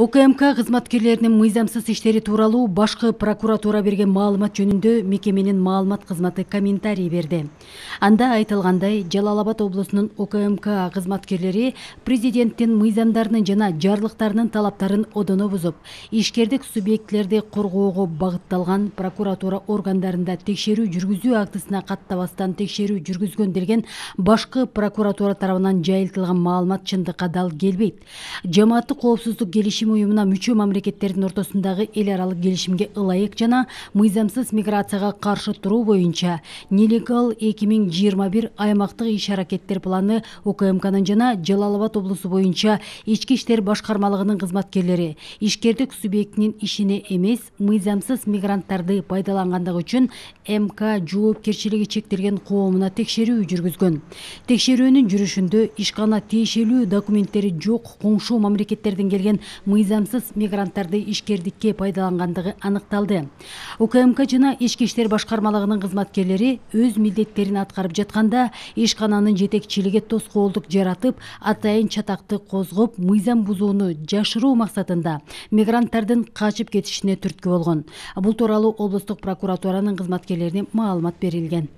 УКМК кызматкерлеринин мыйзамсыз иштери тууралуу башкы прокуратура берген маалымат жөнүндө мекеменин маалымат кызматы комментарий берди. Анда айтылгандай, Жалал Абад облусунун УКМК кызматкерлери президенттин мыйзамдарынын жана жарлыктарынын талаптарын одоно бузуп, ишкердик субъектилерди коргоого багытталган прокуратура органдарында текшерүү жүргүзүү актысына каттабастан текшерүү жүргүзгөн делген башкы прокуратура тарабынан жайылтылган маалымат чындыкка дал келбейт. Жамааттык коопсуздук келишим уюмуна мүчө мамлекеттердин ортосундагы эл аралык келишимге ылайык жана мыйзамсыз миграцияга каршы туруу боюнча Нелегал 2021 аймактык иш-аракеттер планы УКМКнын жана Жалал Абад облусу боюнча ички иштер башкармалыгынын кызматкерлери ишкердик субъектинин ишине эмес, мыйзамсыз мигранттарды пайдалангандыгы үчүн МК жоопкерчилиги чектелген коомуна текшерүү жүргүзгөн. Текшерүүнүн жүрүшүндө ишкана тиешелүү документтери жок коңшу мамлекеттерден келген мыйзамсыз мигранттарды ишкердикке пайдалангандыгы аныкталды. УКМК жана ички иштер башкармалыгынын кызматкерлери өз милдеттерин аткарып жатканда ишкананын жетекчилиги тоскоолдук жаратып, атайын чатакты козгоп, мыйзам бузууну жашыруу максатында мигранттардын качып кетишине түрткү болгон. Бул тууралуу облустук прокуратуранын кызматкерлерине маалымат берилген.